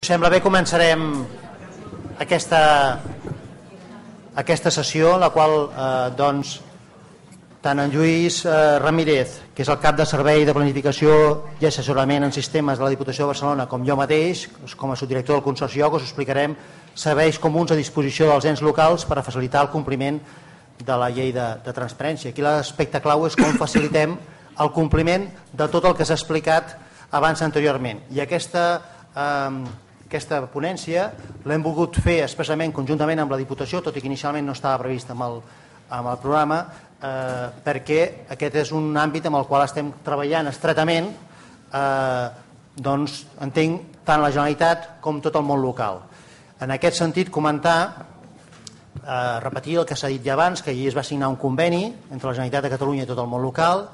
Sembla bé, començarem aquesta sessió, en la qual tant en Lluís Ramírez, que és el cap de Servei de Planificació i Assessorament en Sistemes de la Diputació de Barcelona, com jo mateix, com a subdirector del Consorci OC, us explicarem serveis comuns a disposició dels ens locals per a facilitar el compliment de la llei de transparència. Aquí l'aspecte clau és com facilitem el compliment de tot el que s'ha explicat abans anteriorment. I aquesta ponència l'hem volgut fer expressament conjuntament amb la Diputació, tot i que inicialment no estava previst amb el programa, perquè aquest és un àmbit amb el qual estem treballant estretament, doncs entenc tant la Generalitat com tot el món local. En aquest sentit, comentar, repetir el que s'ha dit ja abans, que ahir es va signar un conveni entre la Generalitat de Catalunya i tot el món local,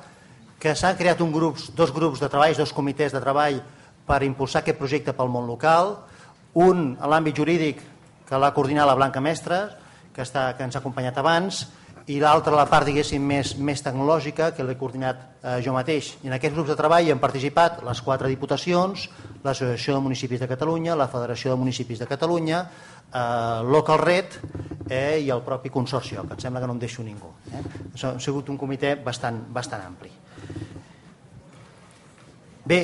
que s'han creat dos grups de treball, dos comitès de treball per impulsar aquest projecte pel món local, un a l'àmbit jurídic que l'ha coordinat la Blanca Mestres, que ens ha acompanyat abans, i l'altre la part, diguéssim, més tecnològica, que l'he coordinat jo mateix. I en aquests grups de treball hi han participat les 4 diputacions, l'Associació de Municipis de Catalunya, la Federació de Municipis de Catalunya, Local Red i el propi Consorci OC, que em sembla que no em deixo ningú. Ha sigut un comitè bastant ampli. Bé,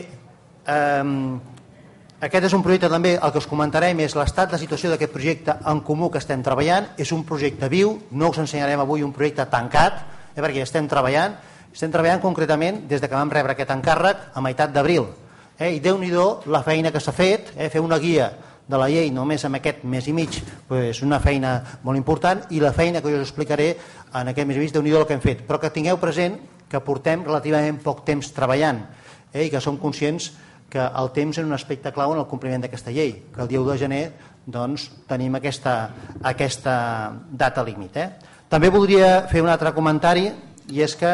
aquest és un projecte també, el que us comentarem és l'estat de situació d'aquest projecte en comú que estem treballant. És un projecte viu, no us ensenyarem avui un projecte tancat, perquè estem treballant concretament des que vam rebre aquest encàrrec a meitat d'abril. I Déu-n'hi-do la feina que s'ha fet, fer una guia de la llei només amb aquest mes i mig, és una feina molt important, i la feina que jo us explicaré en aquest mes i mig, Déu-n'hi-do el que hem fet. Però que tingueu present que portem relativament poc temps treballant i que som conscients que el temps és un aspecte clau en el compliment d'aquesta llei, que el dia 1 de gener doncs, tenim aquesta data límit. També voldria fer un altre comentari, i és que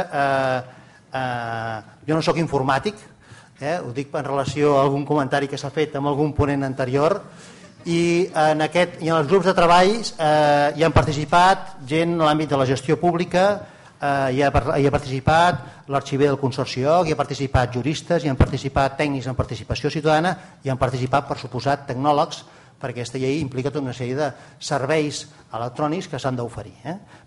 jo no sóc informàtic, ho dic en relació a algun comentari que s'ha fet amb algun ponent anterior, i en els grups de treball hi han participat gent en l'àmbit de la gestió pública, hi ha participat l'arxiver del Consorci OC, hi ha participat juristes, hi han participat tècnics en participació ciutadana, hi han participat, per suposat, tecnòlegs, perquè aquesta llei implica tota una sèrie de serveis electrònics que s'han d'oferir.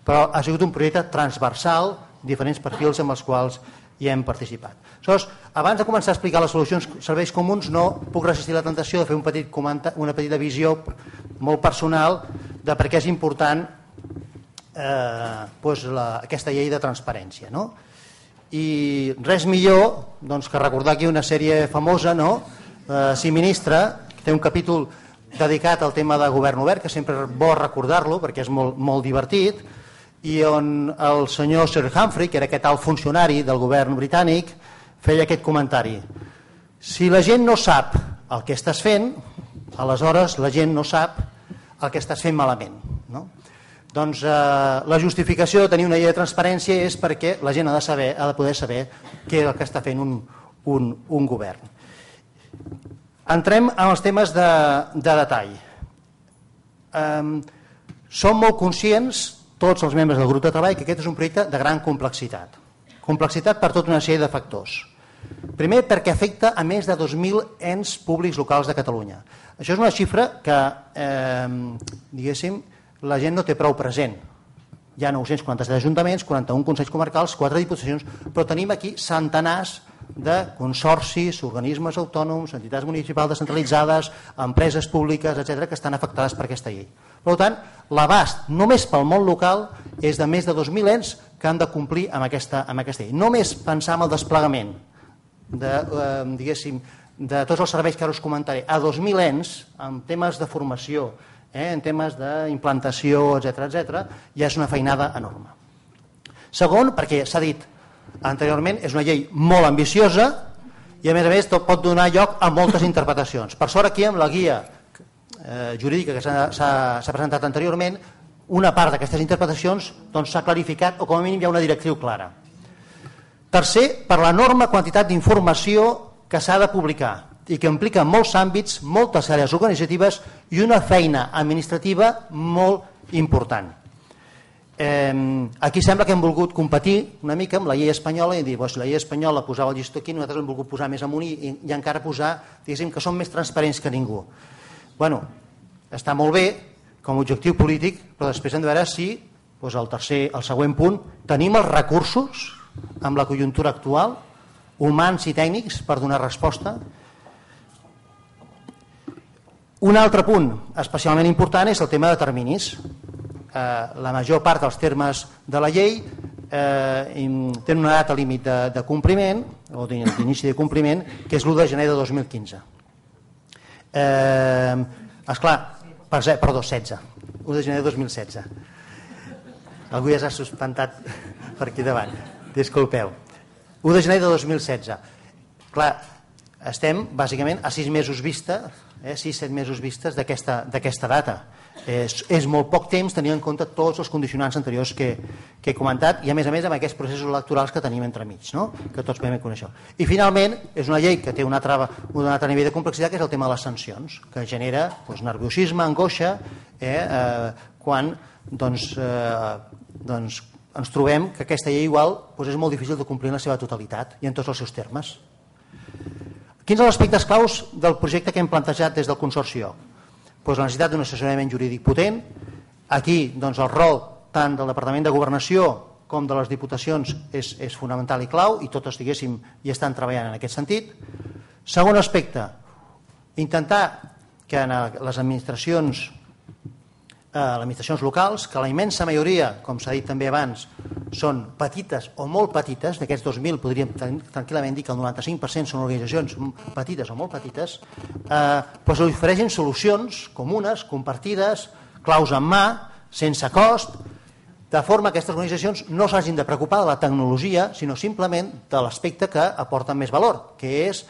Però ha sigut un projecte transversal, diferents perfils amb els quals hi hem participat. Aleshores, abans de començar a explicar les solucions serveis comuns, no puc resistir la tentació de fer una petita visió molt personal de per què és important aquesta llei de transparència. I res millor que recordar aquí una sèrie famosa, Si Ministra, que té un capítol dedicat al tema de govern obert, que sempre és bo recordar-lo perquè és molt divertit, i on el senyor Sir Humphrey, que era aquest alt funcionari del govern britànic, feia aquest comentari: si la gent no sap el que estàs fent, aleshores la gent no sap el que estàs fent malament. Doncs la justificació de tenir una llei de transparència és perquè la gent ha de poder saber què és el que està fent un govern. Entrem en els temes de detall. Som molt conscients, tots els membres del grup de treball, que aquest és un projecte de gran complexitat. Complexitat per tota una sèrie de factors. Primer, perquè afecta a més de 2.000 ens públics locals de Catalunya. Això és una xifra que, diguéssim, la gent no té prou present. Hi ha 947 ajuntaments, 41 consells comarcals, 4 diputacions, però tenim aquí centenars de consorcis, organismes autònoms, entitats municipals descentralitzades, empreses públiques, etc., que estan afectades per aquesta llei. Per tant, l'abast només pel món local és de més de 2.000 ens que han de complir amb aquesta llei. Només pensar en el desplegament de tots els serveis que ara us comentaré a 2.000 ens, en temes de formació, en temes d'implantació, etc., ja és una feinada enorme. Segon, perquè s'ha dit anteriorment, és una llei molt ambiciosa i a més pot donar lloc a moltes interpretacions. Per sort, aquí amb la guia jurídica que s'ha presentat anteriorment, una part d'aquestes interpretacions s'ha clarificat, o com a mínim hi ha una directriu clara. Tercer, per l'enorme quantitat d'informació que s'ha de publicar i que implica molts àmbits, moltes àrees organitzatives i una feina administrativa molt important. Aquí sembla que hem volgut competir una mica amb la llei espanyola i dir, si la llei espanyola posava el llistó aquí, nosaltres hem volgut posar més amunt i encara posar, diguéssim, que som més transparents que ningú. Bueno, està molt bé com a objectiu polític, però després hem de veure si el següent punt, tenim els recursos amb la conjuntura actual, humans i tècnics, per donar resposta. Un altre punt especialment important és el tema de terminis. La major part dels termes de la llei tenen una data límit de compliment o d'inici de compliment, que és l'1 de gener de 2015. Esclar, perdó, 16, 1 de gener de 2016. Algú ja s'ha suspentat per aquí davant, disculpeu. 1 de gener de 2016. Clar, estem bàsicament a 6 mesos vista, 6-7 mesos vistes d'aquesta data. És molt poc temps tenint en compte tots els condicionants anteriors que he comentat i a més amb aquests processos electorals que tenim entremig, no? Que tots podem conèixer. I finalment és una llei que té un altre nivell de complexitat, que és el tema de les sancions, que genera nerviosisme, angoixa, quan ens trobem que aquesta llei igual és molt difícil de complir en la seva totalitat i en tots els seus termes. Quins són els aspectes claus del projecte que hem plantejat des del Consorci OC? La necessitat d'un assessorament jurídic potent. Aquí el rol tant del Departament de Governació com de les Diputacions és fonamental i clau, i totes i estan treballant en aquest sentit. Segon aspecte, intentar que en les administracions locals, que la immensa majoria, com s'ha dit també abans, són petites o molt petites, d'aquests 2.000 podríem tranquil·lament dir que el 95% són organitzacions petites o molt petites, ofereixen solucions comunes, compartides, claus en mà, sense cost, de forma que aquestes organitzacions no s'hagin de preocupar de la tecnologia, sinó simplement de l'aspecte que aporta més valor, que és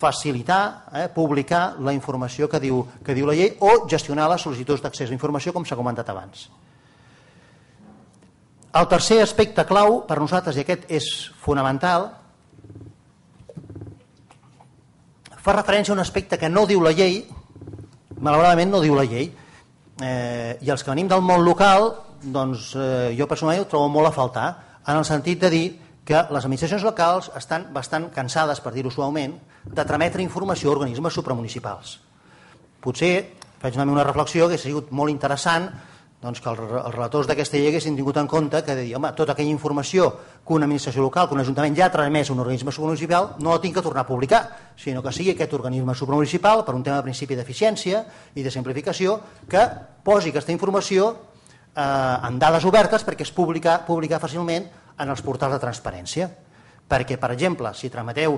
facilitar, publicar la informació que diu la llei o gestionar les sol·licituds d'accés a la informació, com s'ha comentat abans. El tercer aspecte clau per nosaltres, i aquest és fonamental, fa referència a un aspecte que no diu la llei, malauradament no diu la llei, i els que venim del món local, jo personalment ho trobo molt a faltar, en el sentit de dir que les administracions locals estan bastant cansades, per dir-ho suaument, de trametre informació a organismes supramunicipals. Potser, faig una reflexió, que ha sigut molt interessant que els relators d'aquesta llei haguessin tingut en compte que de dir, tota aquella informació que una administració local, que un ajuntament ja ha tramès a un organisme supramunicipal, no la tinc que tornar a publicar, sinó que sigui aquest organisme supramunicipal, per un tema de principi d'eficiència i de simplificació, que posi aquesta informació en dades obertes perquè es publicar fàcilment en els portals de transparència. Perquè, per exemple, si trameteu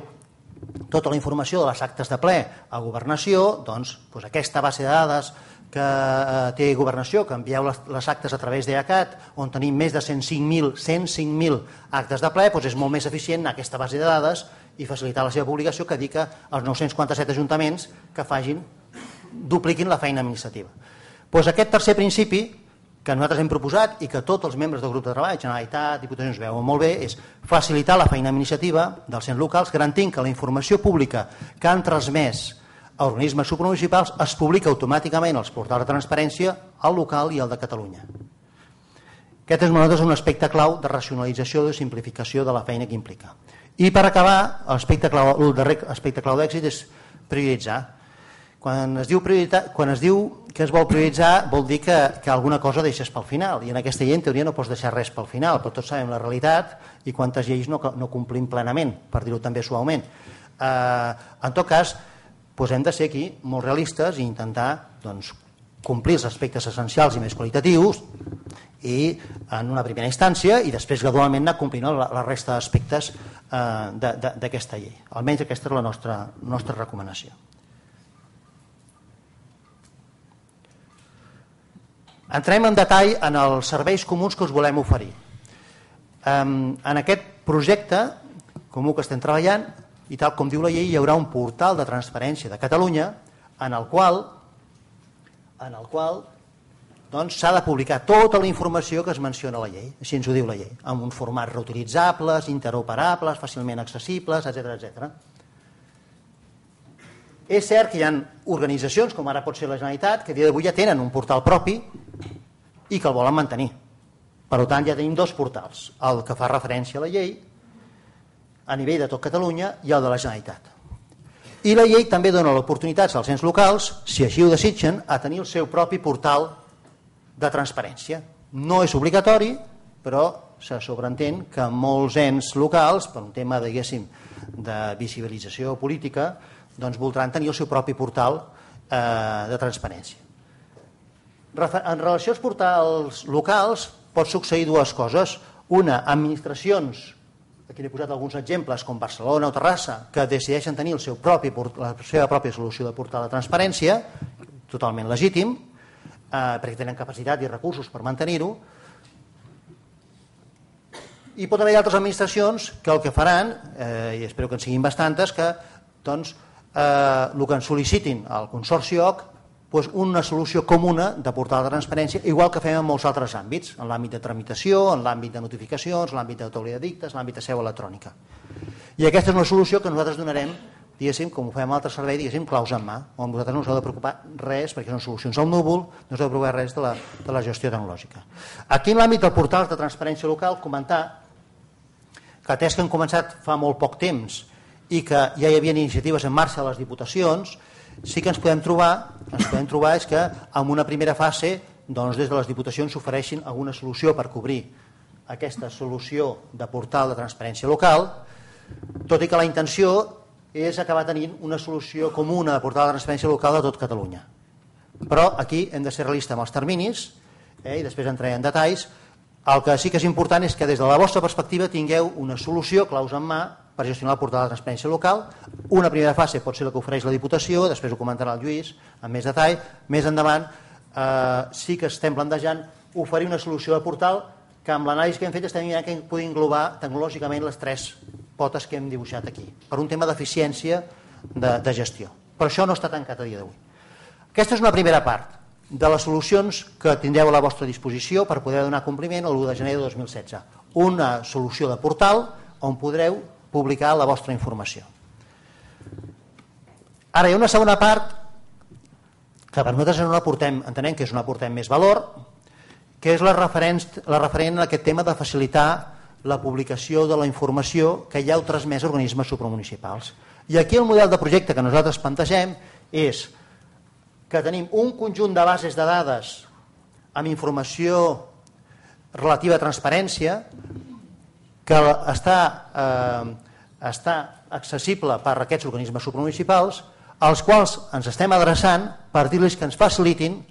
tota la informació de les actes de ple a Governació, doncs aquesta base de dades que té Governació, que envieu les actes a través d'EACAT, on tenim més de 105.000 actes de ple, és molt més eficient anar a aquesta base de dades i facilitar la seva publicació que dir que els 947 ajuntaments que dupliquin la feina administrativa. Aquest tercer principi que nosaltres hem proposat i que tots els membres del grup de treball, Generalitat, Diputacions, veuen molt bé, és facilitar la feina administrativa dels ens locals, garantint que la informació pública que han transmès a organismes supramunicipals es publica automàticament als portals de transparència, al local i al de Catalunya. Aquest és un aspecte clau de racionalització i de simplificació de la feina que implica. I per acabar, el darrer aspecte clau d'èxit és prioritzar. Quan es diu que es vol prioritzar vol dir que alguna cosa deixes pel final, i en aquesta llei en teoria no pots deixar res pel final, però tots sabem la realitat i quantes lleis no complim plenament, per dir-ho també suaument. En tot cas, hem de ser aquí molt realistes i intentar complir els aspectes essencials i més qualitatius i en una primera instància i després gradualment anar complint la resta d'aspectes d'aquesta llei. Almenys aquesta és la nostra recomanació. Entrem en detall en els serveis comuns que us volem oferir. En aquest projecte comú que estem treballant, i tal com diu la llei, hi haurà un portal de transparència de Catalunya en el qual s'ha de publicar tota la informació que es menciona a la llei, així ens ho diu la llei, amb uns formats reutilitzables, interoperables, fàcilment accessibles, etc. És cert que hi ha organitzacions, com ara pot ser la Generalitat, que a dia d'avui ja tenen un portal propi i que el volen mantenir. Per tant, ja tenim dos portals, el que fa referència a la llei a nivell de tot Catalunya i el de la Generalitat. I la llei també dona l'oportunitat als ens locals, si així ho desitgen, a tenir el seu propi portal de transparència. No és obligatori, però se sobreentén que molts ens locals, per un tema, diguéssim, de visibilització política, doncs voldran tenir el seu propi portal de transparència. En relació als portals locals pot succeir dues coses. Una, administracions, aquí n'he posat alguns exemples, com Barcelona o Terrassa, que decideixen tenir la seva pròpia solució de portal de transparència, totalment legítim, perquè tenen capacitat i recursos per mantenir-ho. I pot haver altres administracions que el que faran, i espero que en siguin bastantes, que doncs, el que ens sol·licitin al Consorci OC, una solució comuna de portal de transparència, igual que fem en molts altres àmbits, en l'àmbit de tramitació, en l'àmbit de notificacions, en l'àmbit d'autoria d'edictes, en l'àmbit de seu electrònica. I aquesta és una solució que nosaltres donarem, diguéssim, com ho fem en altre servei, diguéssim, claus en mà, on vosaltres no us heu de preocupar res, perquè són solucions al núvol, no us heu de preocupar res de la gestió tecnològica. Aquí en l'àmbit del portal de transparència local, comentar que atès que han començat fa molt poc temps i que ja hi havia iniciatives en marxa a les diputacions, sí que ens podem trobar és que en una primera fase doncs des de les diputacions s'ofereixin alguna solució per cobrir aquesta solució de portal de transparència local, tot i que la intenció és acabar tenint una solució comuna de portal de transparència local de tot Catalunya. Però aquí hem de ser realistes amb els terminis i després entraré en detalls. El que sí que és important és que des de la vostra perspectiva tingueu una solució, claus en mà, per gestionar el portal de transparència local. Una primera fase pot ser la que ofereix la Diputació, després ho comentarà el Lluís amb més detall. Més endavant sí que estem plantejant oferir una solució de portal que amb l'anàlisi que hem fet estem mirant que pugui englobar tecnològicament les tres potes que hem dibuixat aquí, per un tema d'eficiència de gestió. Però això no està tancat a dia d'avui. Aquesta és una primera part de les solucions que tindreu a la vostra disposició per poder donar compliment l'1 de gener de 2016. Una solució de portal on podreu publicar la vostra informació. Ara hi ha una segona part que per nosaltres entenem que és on aportem més valor, que és la referent a aquest tema de facilitar la publicació de la informació que ja heu transmès a organismes supramunicipals. I aquí el model de projecte que nosaltres plantegem és que tenim un conjunt de bases de dades amb informació relativa a transparència que està accessible per a aquests organismes supramunicipals, als quals ens estem adreçant per dir-los que ens facilitin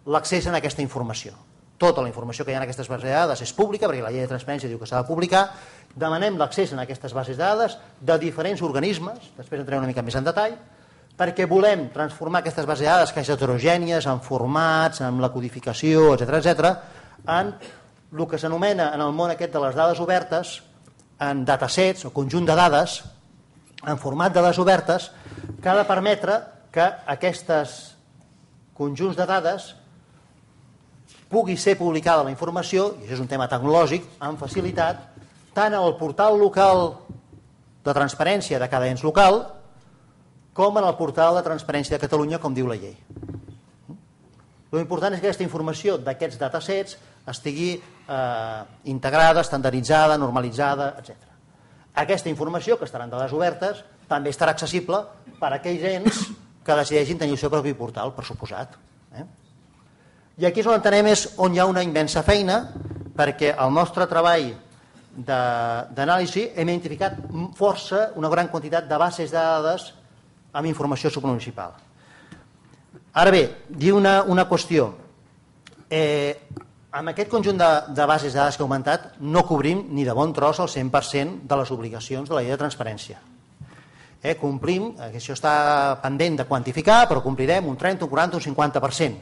l'accés a aquesta informació. Tota la informació que hi ha en aquestes bases de dades és pública, perquè la llei de transparència diu que s'ha de publicar. Demanem l'accés a aquestes bases de dades de diferents organismes, després entrem una mica més en detall, perquè volem transformar aquestes bases de dades, que és heterogènies, en formats, en la codificació, etc., en el que s'anomena en el món aquest de les dades obertes, en datasets o conjunt de dades, en format de dades obertes, que ha de permetre que aquests conjunts de dades pugui ser publicada la informació, i això és un tema tecnològic, amb facilitat, tant en el portal local de transparència de cada ens local, com en el portal de transparència de Catalunya, com diu la llei. L'important és que aquesta informació d'aquests datasets estigui integrada, estandarditzada, normalitzada, etc. Aquesta informació, que estarà en dades obertes, també estarà accessible per a aquells ens que decideixin tenir el seu propi portal, per suposat. I aquí és on entenem on hi ha una immensa feina, perquè el nostre treball d'anàlisi hem identificat força, una gran quantitat de bases de dades amb informació supramunicipal. Ara bé, dir una qüestió. Amb aquest conjunt de bases de dades que he augmentat no cobrim ni de bon tros el 100% de les obligacions de la llei de transparència. Complim, això està pendent de quantificar, però complirem un 30, un 40, un 50%.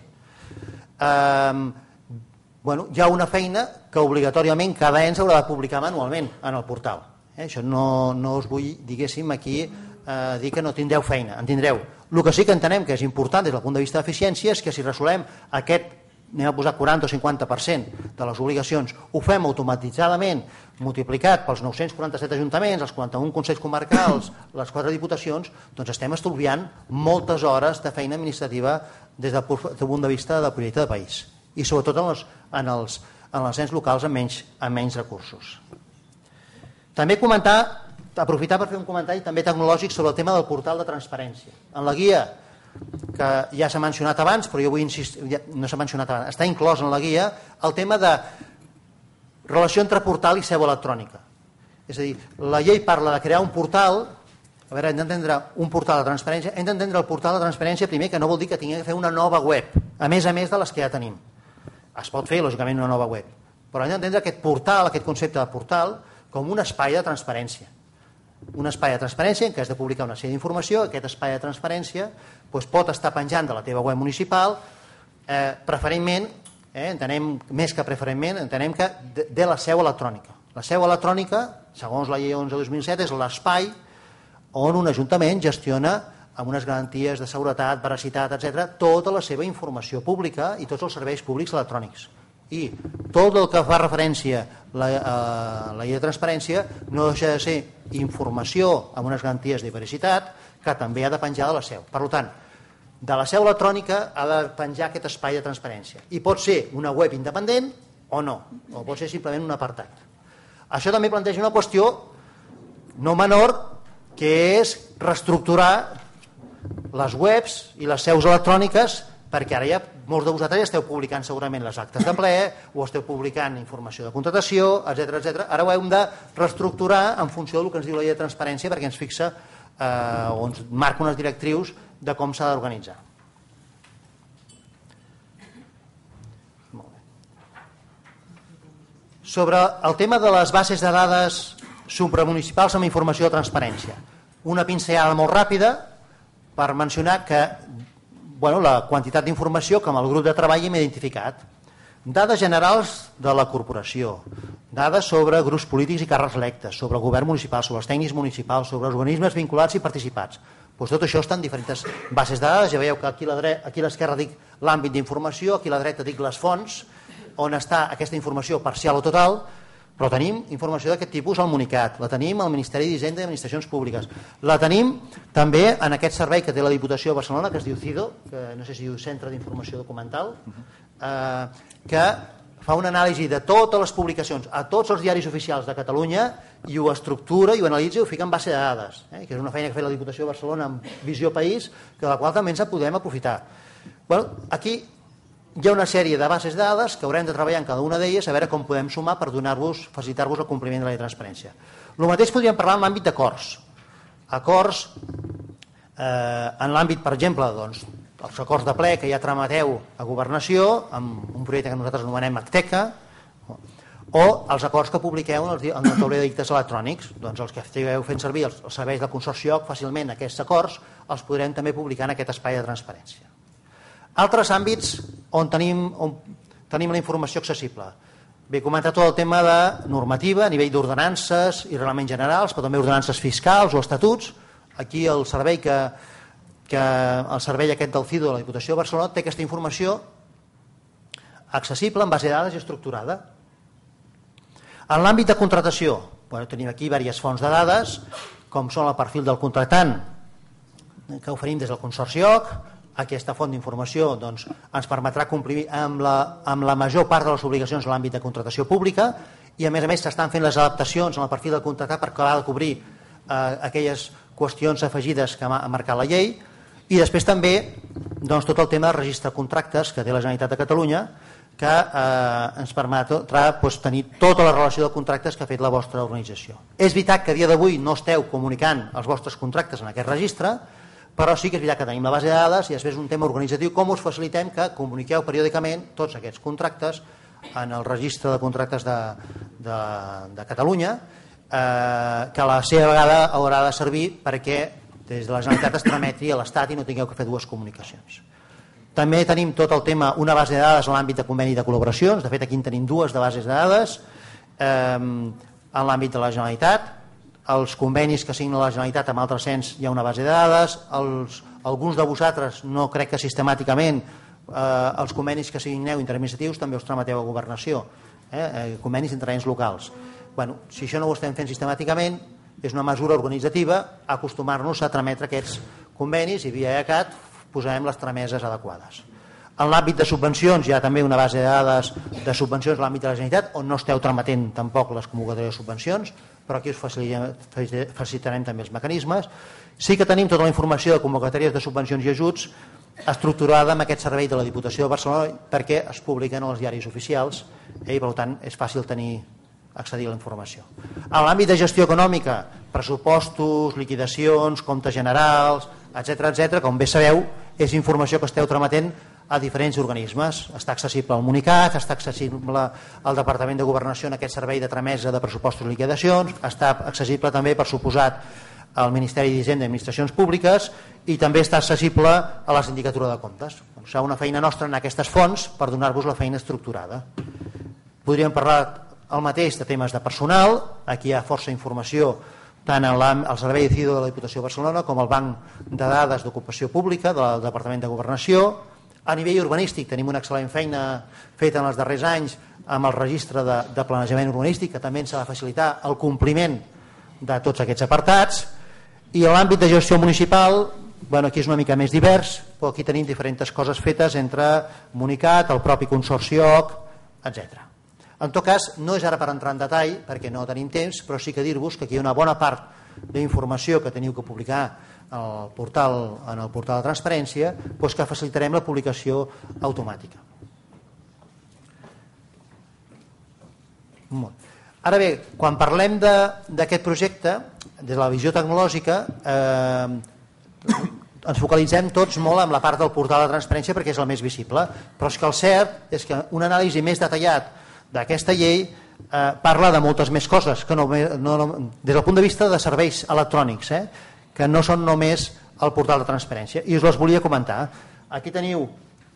Hi ha una feina que obligatòriament cada ens haurà de publicar manualment en el portal. Això no us vull, diguéssim, aquí dir que no tindreu feina, en tindreu. El que sí que entenem que és important des del punt de vista d'eficiència és que si resolem aquest, anem a posar 40 o 50% de les obligacions, ho fem automatitzadament multiplicat pels 947 ajuntaments, els 41 consells comarcals, les 4 diputacions, doncs estem estalviant moltes hores de feina administrativa des del punt de vista del projecte de país i sobretot en els ens locals amb menys recursos. També comentar aprofitar per fer un comentari també tecnològic sobre el tema del portal de transparència. En la guia, que ja s'ha mencionat abans, però jo vull insistir, no s'ha mencionat abans, està inclòs en la guia el tema de relació entre portal i seu electrònica. És a dir, la llei parla de crear un portal, a veure, hem d'entendre un portal de transparència, hem d'entendre el portal de transparència primer, que no vol dir que tingui que fer una nova web, a més de les que ja tenim. Es pot fer, lògicament, una nova web, però hem d'entendre aquest portal, aquest concepte de portal, com un espai de transparència. Un espai de transparència en què has de publicar una sèrie d'informació, aquest espai de transparència pot estar penjant de la teva web municipal, preferentment, entenem més que preferentment, entenem que de la seu electrònica. La seu electrònica, segons la llei 11/2007, és l'espai on un ajuntament gestiona amb unes garanties de seguretat, veracitat, etc., tota la seva informació pública i tots els serveis públics electrònics. I tot el que fa referència a la llei de transparència no deixa de ser informació amb unes garanties de veracitat que també ha de penjar de la seu. Per tant, de la seu electrònica ha de penjar aquest espai de transparència. I pot ser una web independent o no, o pot ser simplement un apartat. Això també planteja una qüestió no menor, que és reestructurar les webs i les seus electròniques, perquè ara ja molts de vosaltres ja esteu publicant segurament les actes de ple o esteu publicant informació de contractació, etc. Ara ho hem de reestructurar en funció del que ens diu la llei de transparència, perquè ens fixa o ens marca unes directrius de com s'ha d'organitzar. Sobre el tema de les bases de dades supramunicipals amb informació de transparència, una pinzellada molt ràpida per mencionar que la quantitat d'informació que amb el grup de treball hem identificat. Dades generals de la corporació, dades sobre grups polítics i càrrecs electes, sobre el govern municipal, sobre els tècnics municipals, sobre els organismes vinculats i participats. Tot això està en diferents bases de dades. Ja veieu que aquí a l'esquerra dic l'àmbit d'informació, aquí a la dreta dic les fonts on està aquesta informació parcial o total, però tenim informació d'aquest tipus al Municat, la tenim al Ministeri d'Hisenda i Administracions Públiques, la tenim també en aquest servei que té la Diputació de Barcelona, que es diu CIDO, que no sé si diu Centre d'Informació Documental, que fa una anàlisi de totes les publicacions a tots els diaris oficials de Catalunya i ho estructura i ho analitza i ho fica en base de dades, que és una feina que ha fet la Diputació de Barcelona amb Visió País, de la qual també ens podem aprofitar. Aquí hi ha una sèrie de bases de dades que haurem de treballar en cada una d'elles a veure com podem sumar per facilitar-vos el compliment de la llei de transparència. El mateix podríem parlar en l'àmbit d'acords. Acords en l'àmbit, per exemple, els acords de ple que ja trameteu a Governació amb un projecte que nosaltres anomenem Acteca, o els acords que publiqueu en el tauler de dictes electrònics. Els que estigueu fent servir els serveis del Consorci OC, fàcilment aquests acords els podrem també publicar en aquest espai de transparència. Altres àmbits on tenim la informació accessible. Bé, he comentat tot el tema de normativa a nivell d'ordenances i reglaments generals, però també ordenances fiscals o estatuts. Aquí el servei aquest del CIDO de la Diputació de Barcelona té aquesta informació accessible en base de dades i estructurada. En l'àmbit de contractació, tenim aquí diverses fonts de dades, com són el perfil del contractant que oferim des del Consorci OC. Aquesta font d'informació ens permetrà complir amb la major part de les obligacions en l'àmbit de contractació pública i a més s'estan fent les adaptacions en el perfil del contractat per acabar de cobrir aquelles qüestions afegides que ha marcat la llei. I després també tot el tema del registre de contractes que té la Generalitat de Catalunya, que ens permetrà tenir tota la relació de contractes que ha fet la vostra organització. És veritat que a dia d'avui no esteu comunicant els vostres contractes en aquest registre, però sí que és veritat que tenim la base de dades i després un tema organitzatiu, com us facilitem que comuniqueu periòdicament tots aquests contractes en el registre de contractes de Catalunya, que a la seva vegada haurà de servir perquè des de la Generalitat es trameti a l'Estat i no tingueu que fer dues comunicacions. També tenim tot el tema, una base de dades en l'àmbit de conveni de col·laboracions. De fet, aquí en tenim dues de bases de dades en l'àmbit de la Generalitat. Els convenis que signa la Generalitat amb altres ens hi ha una base de dades. Alguns de vosaltres, no crec que sistemàticament, els convenis que signeu interadministratius també us trameteu a Governació, convenis entre ens locals. Si això no ho estem fent sistemàticament, és una mesura organitzativa acostumar-nos a trametre aquests convenis i via ECAT posarem les trameses adequades. En l'àmbit de subvencions hi ha també una base de dades de subvencions a l'àmbit de la Generalitat on no esteu trametent tampoc les convocatòries de subvencions, però aquí us facilitarem també els mecanismes. Sí que tenim tota la informació de convocatòries de subvencions i ajuts estructurada en aquest servei de la Diputació de Barcelona perquè es publiquen als diaris oficials i per tant és fàcil accedir a la informació. En l'àmbit de gestió econòmica, pressupostos, liquidacions, comptes generals, etc., com bé sabeu, és informació que esteu trametent a diferents organismes. Està accessible al Municat, està accessible al Departament de Governació en aquest servei de tramesa de pressupostos i liquidacions, està accessible també, per suposat, al Ministeri d'Hisenda i Administracions Públiques i també està accessible a la Sindicatura de Comptes. Serà una feina nostra en aquestes fonts per donar-vos la feina estructurada. Podríem parlar el mateix de temes de personal. Aquí hi ha força informació tant al Servei de CIDO de la Diputació de Barcelona com al Banc de Dades d'Ocupació Pública del Departament de Governació. A nivell urbanístic tenim una excel·lent feina feta en els darrers anys amb el registre de planejament urbanístic que també ens ha de facilitar el compliment de tots aquests apartats. I en l'àmbit de gestió municipal, aquí és una mica més divers, però aquí tenim diferents coses fetes entre Municat, el propi Consorci OC, etc. En tot cas, no és ara per entrar en detall perquè no tenim temps, però sí que dir-vos que aquí hi ha una bona part d'informació que teniu que publicar en el portal de transparència, que facilitarem la publicació automàtica. Ara bé, quan parlem d'aquest projecte, des de la visió tecnològica, ens focalitzem tots molt en la part del portal de transparència perquè és el més visible, però és que el cert és que un anàlisi més detallat d'aquesta llei parla de moltes més coses, que des del punt de vista de serveis electrònics, que no són només el portal de transparència, i us les volia comentar. Aquí teniu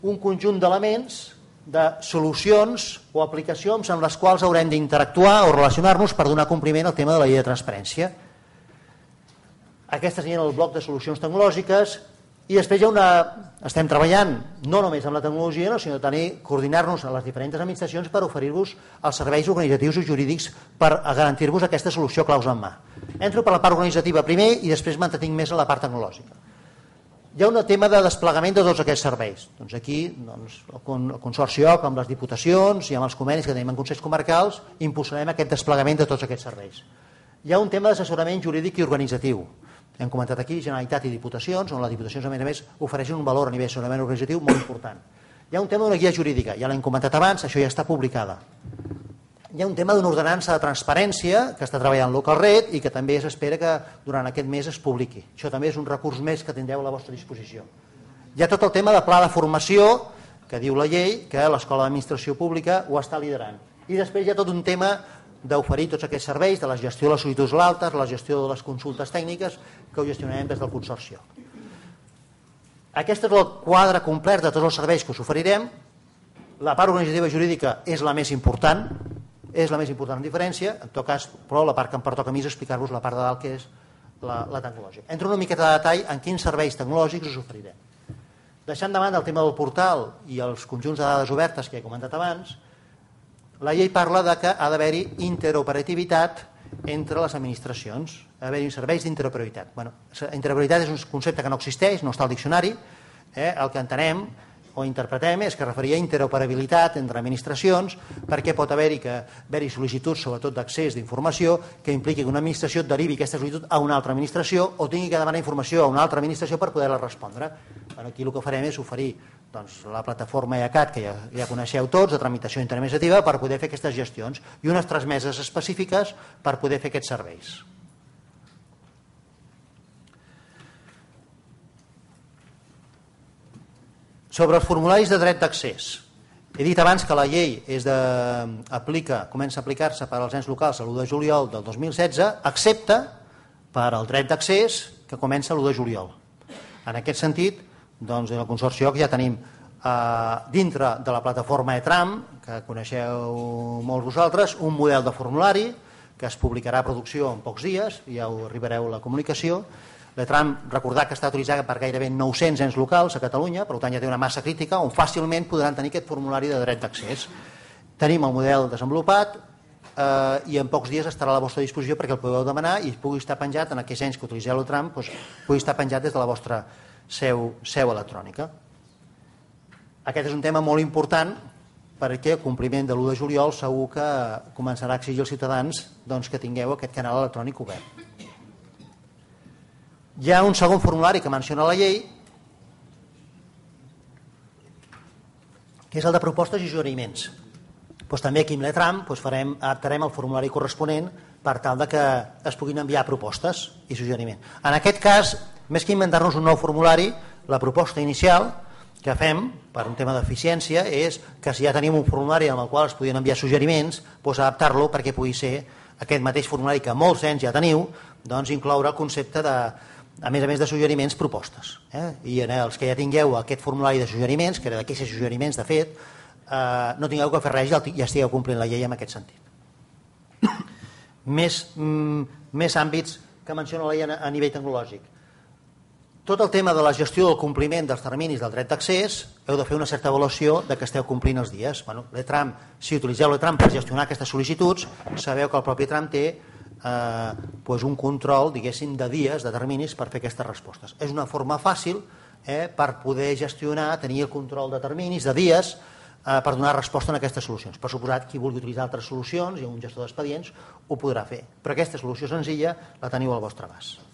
un conjunt d'elements, de solucions o aplicacions amb les quals haurem d'interactuar o relacionar-nos per donar compliment al tema de la llei de transparència. Aquest seria el bloc de solucions tecnològiques i després estem treballant no només amb la tecnologia, sinó també coordinar-nos a les diferents administracions per oferir-vos els serveis organitzatius i jurídics per garantir-vos aquesta solució claus en mà. Entro per la part organitzativa primer i després m'entretinc més en la part tecnològica. Hi ha un tema de desplegament de tots aquests serveis. Aquí el Consorci OC amb les diputacions i amb els convenis que tenim en consells comarcals impulsarem aquest desplegament de tots aquests serveis. Hi ha un tema d'assessorament jurídic i organitzatiu. Hem comentat aquí Generalitat i Diputacions, on les Diputacions a més ofereixen un valor a nivell d'assessorament organitzatiu molt important. Hi ha un tema d'una guia jurídica, ja l'hem comentat abans, això ja està publicada. Hi ha un tema d'una ordenança de transparència que està treballant LocalRed i que també s'espera que durant aquest mes es publiqui. Això també és un recurs més que tindreu a la vostra disposició. Hi ha tot el tema de pla de formació que diu la llei que l'Escola d'Administració Pública ho està liderant. I després hi ha tot un tema d'oferir tots aquests serveis, de la gestió de les sol·licituds altes, la gestió de les consultes tècniques que ho gestionarem des del Consorci. Aquest és el quadre complet de tots els serveis que us oferirem. La part organitzativa i jurídica és la més important, en diferència, en tot cas, però la part que em pertoca a mi és explicar-vos la part de dalt que és la tecnològica. Entro una miqueta de detall en quins serveis tecnològics us oferirem. Deixant de banda el tema del portal i els conjunts de dades obertes que he comentat abans, la llei parla de que ha d'haver-hi interoperativitat entre les administracions, ha d'haver-hi serveis d'interoperabilitat. Interoperabilitat és un concepte que no existeix, no està al diccionari, el que entenem o interpretem és que referia a interoperabilitat entre administracions perquè pot haver-hi sol·licituds, sobretot d'accés d'informació, que impliqui que una administració derivi aquesta sol·licitud a una altra administració o tingui que demanar informació a una altra administració per poder-la respondre. Aquí el que farem és oferir la plataforma EACAT, que ja coneixeu tots, de tramitació interadministrativa, per poder fer aquestes gestions i unes transmeses específiques per poder fer aquests serveis. Sobre els formularis de dret d'accés. He dit abans que la llei comença a aplicar-se per als ens locals l'1 de juliol del 2016, excepte per al dret d'accés que comença l'1 de juliol. En aquest sentit, doncs, en el Consorci OC ja tenim dintre de la plataforma ETRAM, que coneixeu molts vosaltres, un model de formulari que es publicarà a producció en pocs dies, ja ho arribareu a la comunicació. L'ETRAM, recordar que està utilitzada per gairebé 900 ens locals a Catalunya, per tant ja té una massa crítica on fàcilment podran tenir aquest formulari de dret d'accés. Tenim el model desenvolupat i en pocs dies estarà a la vostra disposició perquè el podeu demanar i pugui estar penjat en aquells anys que utilitzeu l'ETRAM, pugui estar penjat des de la vostra seu electrònica. Aquest és un tema molt important perquè el compliment de l'1 de juliol segur que començarà a exigir als ciutadans que tingueu aquest canal electrònic obert. Hi ha un segon formulari que menciona la llei, que és el de propostes i suggeriments. També aquí amb l'ETRAM adaptarem el formulari corresponent per tal que es puguin enviar propostes i suggeriments. En aquest cas, més que inventar-nos un nou formulari, la proposta inicial que fem, per un tema d'eficiència, és que si ja tenim un formulari en el qual es podien enviar suggeriments, adaptar-lo perquè pugui ser aquest mateix formulari que molts d'ells ja teniu, incloure el concepte de, a més de suggeriments, propostes. I en els que ja tingueu aquest formulari de suggeriments, que era d'aquests suggeriments, de fet, no tingueu que fer res i ja estigueu complint la llei en aquest sentit. Més àmbits que menciona la llei a nivell tecnològic. Tot el tema de la gestió del compliment dels terminis del dret d'accés, heu de fer una certa avaluació de que esteu complint els dies. L'ETRAM, si utilitzeu l'ETRAM per gestionar aquestes sol·licituds, sabeu que el propi ETRAM té un control, diguéssim, de dies, de terminis per fer aquestes respostes. És una forma fàcil per poder gestionar, tenir el control de terminis, de dies, per donar resposta a aquestes solucions. Per suposat, qui vulgui utilitzar altres solucions i un gestor d'expedients ho podrà fer, però aquesta solució senzilla la teniu al vostre abast.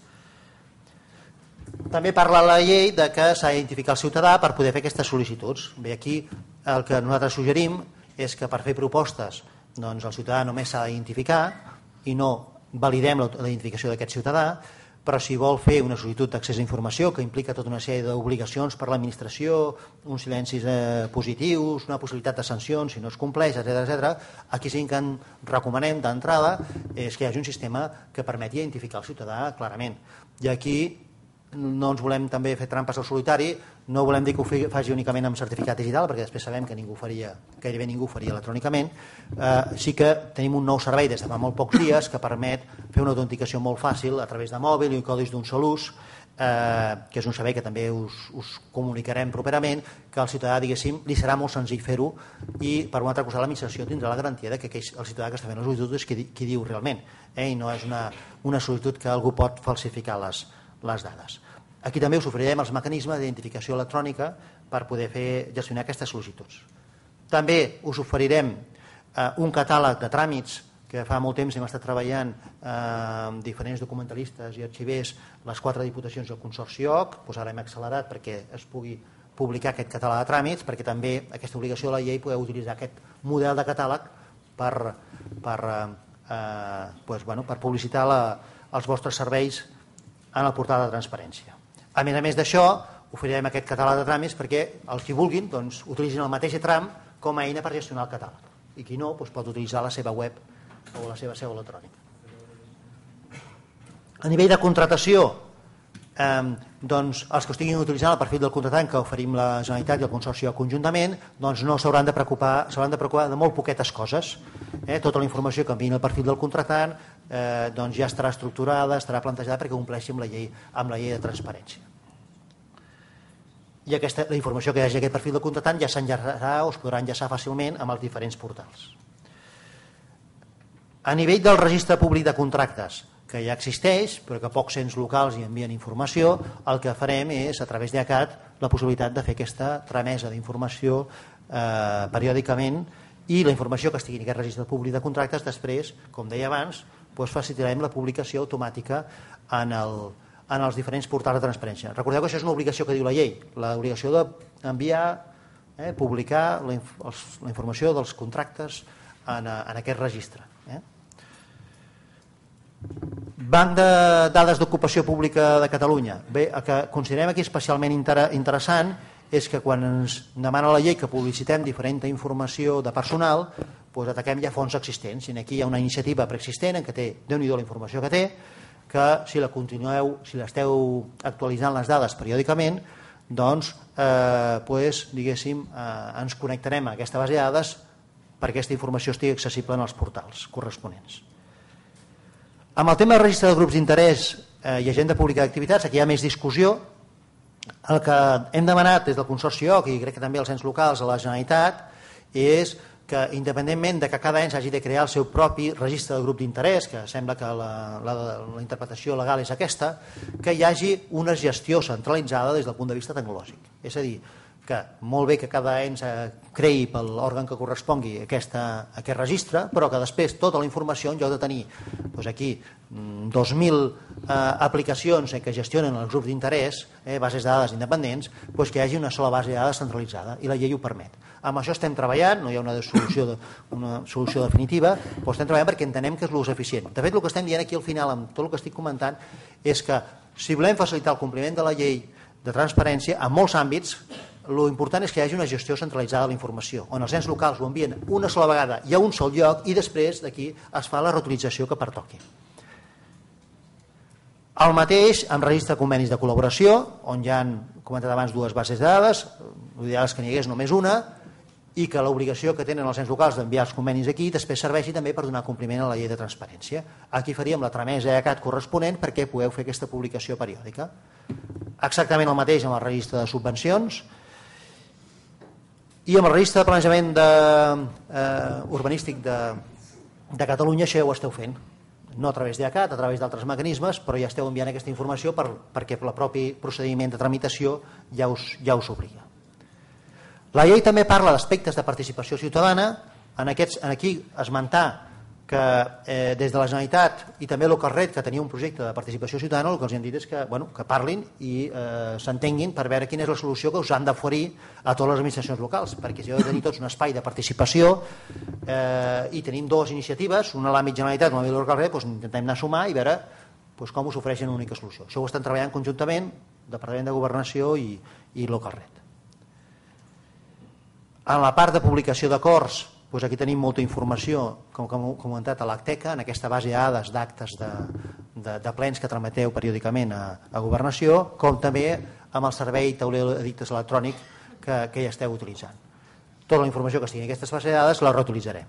També parla la llei de que s'ha d'identificar el ciutadà per poder fer aquestes sol·licituds. Bé, aquí el que nosaltres suggerim és que per fer propostes el ciutadà només s'ha d'identificar i no validem la identificació d'aquest ciutadà, però si vol fer una sol·licitud d'accés a informació que implica tota una sèrie d'obligacions per l'administració, uns silencis positius, una possibilitat de sancions si no es compleix, etc., aquí sí que en recomanem d'entrada és que hi hagi un sistema que permeti identificar el ciutadà clarament. I aquí no ens volem també fer trampes al solitari, no volem dir que ho faci únicament amb certificat digital, perquè després sabem que gairebé ningú ho faria electrònicament. Sí que tenim un nou servei des de fa molt pocs dies que permet fer una autenticació molt fàcil a través de mòbil i codis d'un sol ús, que és un servei que també us comunicarem properament, que al ciutadà, diguéssim, li serà molt senzill fer-ho i per una altra cosa l'administració tindrà la garantia que el ciutadà que està fent la sol·licitud és qui diu realment, i no és una sol·licitud que algú pot falsificar les dades. Aquí també us oferirem els mecanismes d'identificació electrònica per poder gestionar aquestes sol·licituds. També us oferirem un catàleg de tràmits que fa molt temps hem estat treballant amb diferents documentalistes i arxivers, les 4 diputacions i el Consorci OC, ara hem accelerat perquè es pugui publicar aquest catàleg de tràmits, perquè també aquesta obligació de la llei podeu utilitzar aquest model de catàleg per publicitar els vostres serveis en el portal de transparència. A més d'això, oferirem aquest catàleg de tràmits perquè els que vulguin utilitzin el mateix ETRAM com a eina per gestionar el catàleg. I qui no, pot utilitzar la seva web o la seva seu electrònica. A nivell de contratació, els que estiguin utilitzant el perfil del contratant que oferim la Generalitat i el Consorci conjuntament no s'hauran de preocupar de molt poquetes coses. Tota la informació que enviïn el perfil del contratant ja estarà estructurada, estarà plantejada perquè compleixi amb la llei de transparència. I la informació que hi hagi aquest perfil del contratant ja s'enllaçarà o es podrà enllaçar fàcilment amb els diferents portals. A nivell del registre públic de contractes, que ja existeix, però que pocs ens locals hi envien informació, el que farem és, a través d'ACAT, la possibilitat de fer aquesta tramesa d'informació periòdicament i la informació que estigui en aquest registre públic de contractes després, com deia abans, facilitarem la publicació automàtica en els diferents portals de transparència. Recordeu que això és una obligació que diu la llei, l'obligació d'enviar, publicar la informació dels contractes en aquest registre. Banc de dades d'ocupació pública de Catalunya. Bé, el que considerem aquí especialment interessant és que quan ens demana la llei que publicitem diferent informació de personal, ataquem ja fonts existents. I aquí hi ha una iniciativa preexistent en què té, Déu-n'hi-do la informació que té, que si la continueu, si l'esteu actualitzant les dades periòdicament, diguéssim, ens connectarem a aquesta base de dades perquè aquesta informació estigui accessible en els portals corresponents. Amb el tema del registre de grups d'interès i agenda pública d'activitats, aquí hi ha més discussió. El que hem demanat des del Consorci OC i crec que també els ens locals a la Generalitat és que independentment de que cada any s'hagi de crear el seu propi registre de grup d'interès, que sembla que la interpretació legal és aquesta, que hi hagi una gestió centralitzada des del punt de vista tecnològic. És a dir, que molt bé que cada ens creï per l'òrgan que correspongui aquest registre, però que després tota la informació, en lloc de tenir aquí 2.000 aplicacions que gestionen els grups d'interès, bases de dades independents, que hi hagi una sola base de dades centralitzada, i la llei ho permet. Amb això estem treballant, no hi ha una solució definitiva, però estem treballant perquè entenem que és l'ús eficient. De fet, el que estem dient aquí al final, amb tot el que estic comentant, és que si volem facilitar el compliment de la llei de transparència, en molts àmbits, l'important és que hi hagi una gestió centralitzada de la informació, on els ens locals ho envien una sola vegada i a un sol lloc, i després d'aquí es fa la reutilització que pertoqui. El mateix amb registre de convenis de col·laboració, on hi ha, comentat abans, dues bases de dades, l'ideal és que n'hi hagués només una, i que l'obligació que tenen els ens locals d'enviar els convenis aquí després serveixi també per donar compliment a la llei de transparència. Aquí faríem la tramesa ECAT corresponent perquè pugueu fer aquesta publicació periòdica. Exactament el mateix amb el registre de subvencions, i amb el registre de planejament urbanístic de Catalunya això ja ho esteu fent, no a través d'ECAT, a través d'altres mecanismes, però ja esteu enviant aquesta informació perquè el propi procediment de tramitació ja us obliga. La llei també parla d'aspectes de participació ciutadana, aquí esmentar que des de la Generalitat i també l'Ocarret, que tenia un projecte de participació ciutadana, el que els hem dit és que parlin i s'entenguin per veure quina és la solució que us han d'oferir a totes les administracions locals, perquè si heu de tenir tots un espai de participació i tenim dues iniciatives, una a l'àmbit Generalitat i una a l'àmbit l'Ocarret, intentem anar a sumar i veure com us ofereixen una única solució. Això ho estan treballant conjuntament Departament de Governació i l'Ocarret. En la part de publicació d'acords, aquí tenim molta informació, com hem comentat, a l'Acteca, en aquesta base de dades d'actes de plens que trameteu periòdicament a Governació, com també amb el servei tauler d'edictes electrònic que ja esteu utilitzant. Tota la informació que estigui en aquestes bases de dades la reutilitzarem.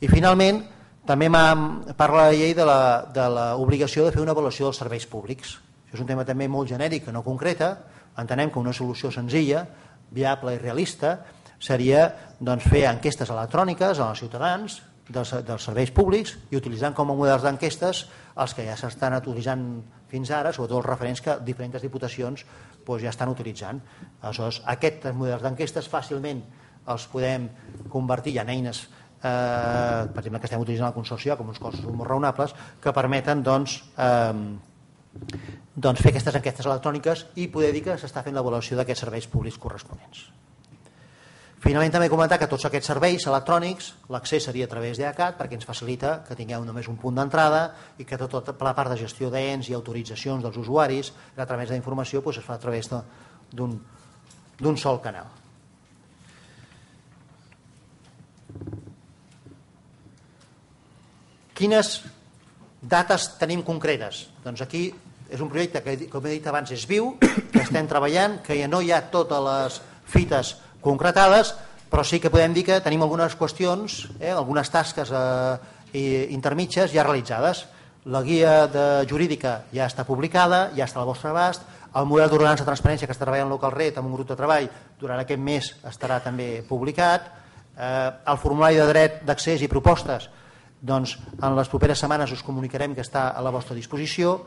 I finalment, també parla la llei de l'obligació de fer una avaluació dels serveis públics. Això és un tema també molt genèric, que no concreta. Entenem que una solució senzilla, viable i realista seria fer enquestes electròniques als ciutadans dels serveis públics i utilitzant com a models d'enquestes els que ja s'estan utilitzant fins ara, sobretot els referents que diferents diputacions ja estan utilitzant. Aleshores, aquests models d'enquestes fàcilment els podem convertir en eines, per exemple, que estem utilitzant al Consorci com uns costos molt raonables, que permeten fer aquestes enquestes electròniques i poder dir que s'està fent l'avaluació d'aquests serveis públics corresponents. Finalment també comentar que tots aquests serveis electrònics l'accés seria a través d'ECAT perquè ens facilita que tingueu només un punt d'entrada i que tota la part de gestió d'ens i autoritzacions dels usuaris a través d'informació es fa a través d'un sol canal. Quines dates tenim concretes? Doncs aquí és un projecte que, com he dit abans, és viu, que estem treballant, que ja no hi ha totes les fites concretades, però sí que podem dir que tenim algunes qüestions, algunes tasques intermitges ja realitzades. La guia jurídica ja està publicada, ja està al vostre abast, el model d'ordenança de transparència que està treballant l'Ocarret amb un grup de treball durant aquest mes estarà també publicat, el formulari de dret d'accés i propostes, doncs en les properes setmanes us comunicarem que està a la vostra disposició.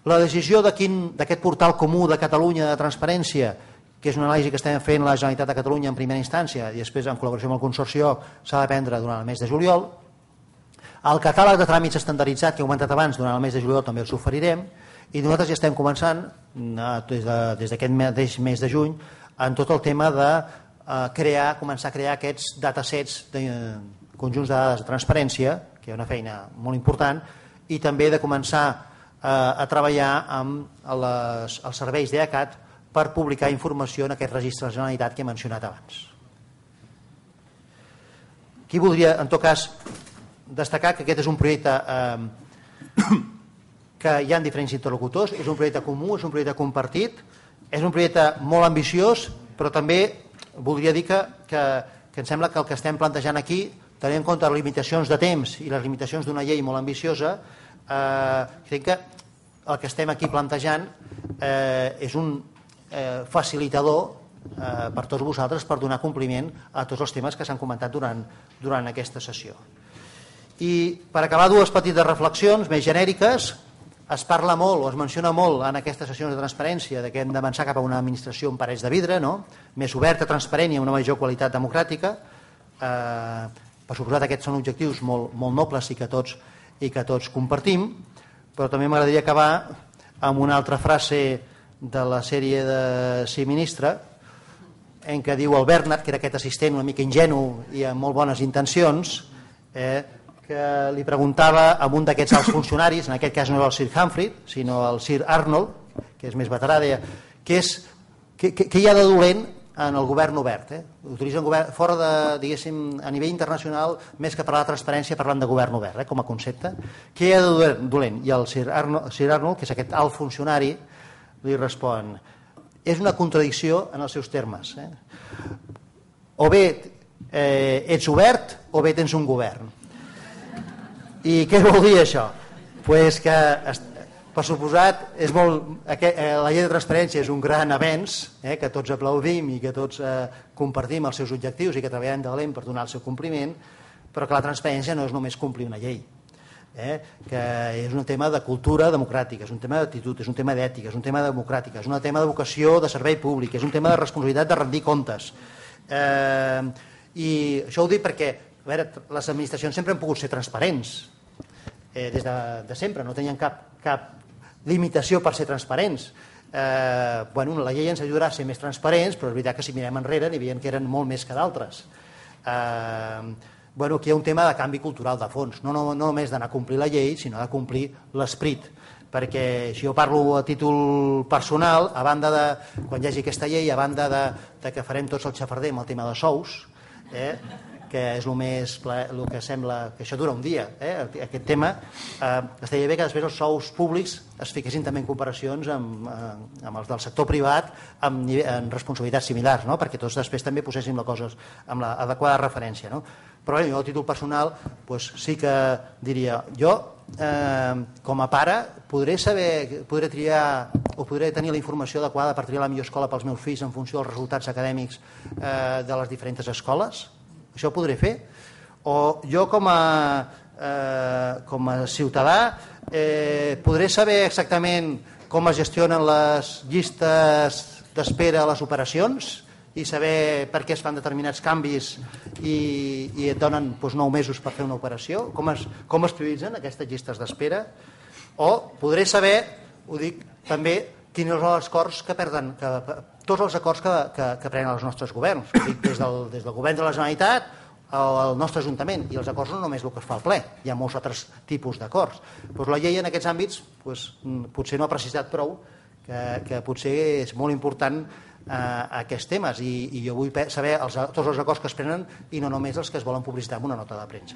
La decisió d'aquest portal comú de Catalunya de transparència, que és una anàlisi que estem fent la Generalitat de Catalunya en primera instància i després en col·laboració amb el Consorci, s'ha de prendre durant el mes de juliol. El catàleg de tràmits estandarditzat que he comentat abans, durant el mes de juliol també els oferirem, i nosaltres ja estem començant des d'aquest mateix mes de juny en tot el tema de començar a crear aquests datasets de conjunts de dades de transparència, que hi ha una feina molt important, i també de començar a treballar amb els serveis d'ECAT per publicar informació en aquest registre de la Generalitat que he mencionat abans. Aquí voldria, en tot cas, destacar que aquest és un projecte que hi ha diferents interlocutors, és un projecte comú, és un projecte compartit, és un projecte molt ambiciós, però també voldria dir que em sembla que el que estem plantejant aquí, tenint en compte les limitacions de temps i les limitacions d'una llei molt ambiciosa, crec que el que estem aquí plantejant és un facilitador per tots vosaltres per donar compliment a tots els temes que s'han comentat durant aquesta sessió. I per acabar, dues petites reflexions més genèriques. Es parla molt o es menciona molt en aquestes sessions de transparència que hem d'avançar cap a una administració amb parets de vidre, més oberta, transparent i amb una major qualitat democràtica. Per suposat, aquests són objectius molt nobles i que tots compartim, però també m'agradaria acabar amb una altra frase de la sèrie de Sí, ministre, en què diu el Bernat, que era aquest assistent una mica ingenu i amb molt bones intencions, que li preguntava a un d'aquests alts funcionaris, en aquest cas no era el Sir Humphrey, sinó el Sir Arnold, que és més veterà, deia, què hi ha de dolent en el govern obert? Utilitzen fora de, diguéssim, a nivell internacional, més que parlar de transparència, parlant de govern obert, com a concepte. Què hi ha de dolent? I el Sir Arnold, que és aquest alt funcionari, li respon, és una contradicció en els seus termes. O bé ets obert o bé tens un govern. I què vol dir això? Pues que, per suposat, la llei de transparència és un gran avenç que tots aplaudim i que tots compartim els seus objectius i que treballem de valent per donar el seu compliment, però que la transparència no és només complir una llei, que és un tema de cultura democràtica, és un tema d'actitud, és un tema d'ètica, és un tema democràtica, és un tema de vocació de servei públic, és un tema de responsabilitat de rendir comptes. I això ho dic perquè a veure, les administracions sempre han pogut ser transparents, des de sempre, no tenien cap limitació per ser transparents. La llei ens ajudarà a ser més transparents, però és veritat que si mirem enrere n'hi havia que eren molt més que d'altres. Aquí hi ha un tema de canvi cultural de fons, no només d'anar a complir la llei, sinó de complir l'esperit, perquè si jo parlo a títol personal, a banda de, quan hi hagi aquesta llei, a banda de que farem tots el xafarder amb el tema de sous, que és el que sembla que això dura un dia, aquest tema, estaria bé que després els sous públics es fiquessin també en comparacions amb els del sector privat en responsabilitats similars, perquè tots després també poséssim les coses amb l'adequada referència. Però jo a títol personal sí que diria, jo com a pare podré triar o podré tenir la informació adequada per triar la millor escola pels meus fills en funció dels resultats acadèmics de les diferents escoles? Això ho podré fer? O jo com a ciutadà podré saber exactament com es gestionen les llistes d'espera a les operacions i saber per què es fan determinats canvis i et donen 9 mesos per fer una operació? Com es prioritzen aquestes llistes d'espera? O podré saber, ho dic també, quins són els acords que perden, tots els acords que prenen els nostres governs, des del govern de la Generalitat al nostre Ajuntament, i els acords no només el que es fa al ple, hi ha molts altres tipus d'acords. La llei en aquests àmbits potser no ha precisat prou, que potser és molt important aquests temes, i jo vull saber tots els acords que es prenen i no només els que es volen publicitar en una nota de premsa.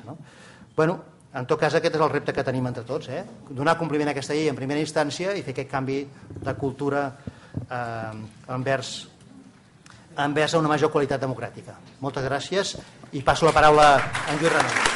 En tot cas, aquest és el repte que tenim entre tots, donar compliment a aquesta llei en primera instància i fer aquest canvi de cultura envers una major qualitat democràtica. Moltes gràcies i passo la paraula a en Lluís Renau.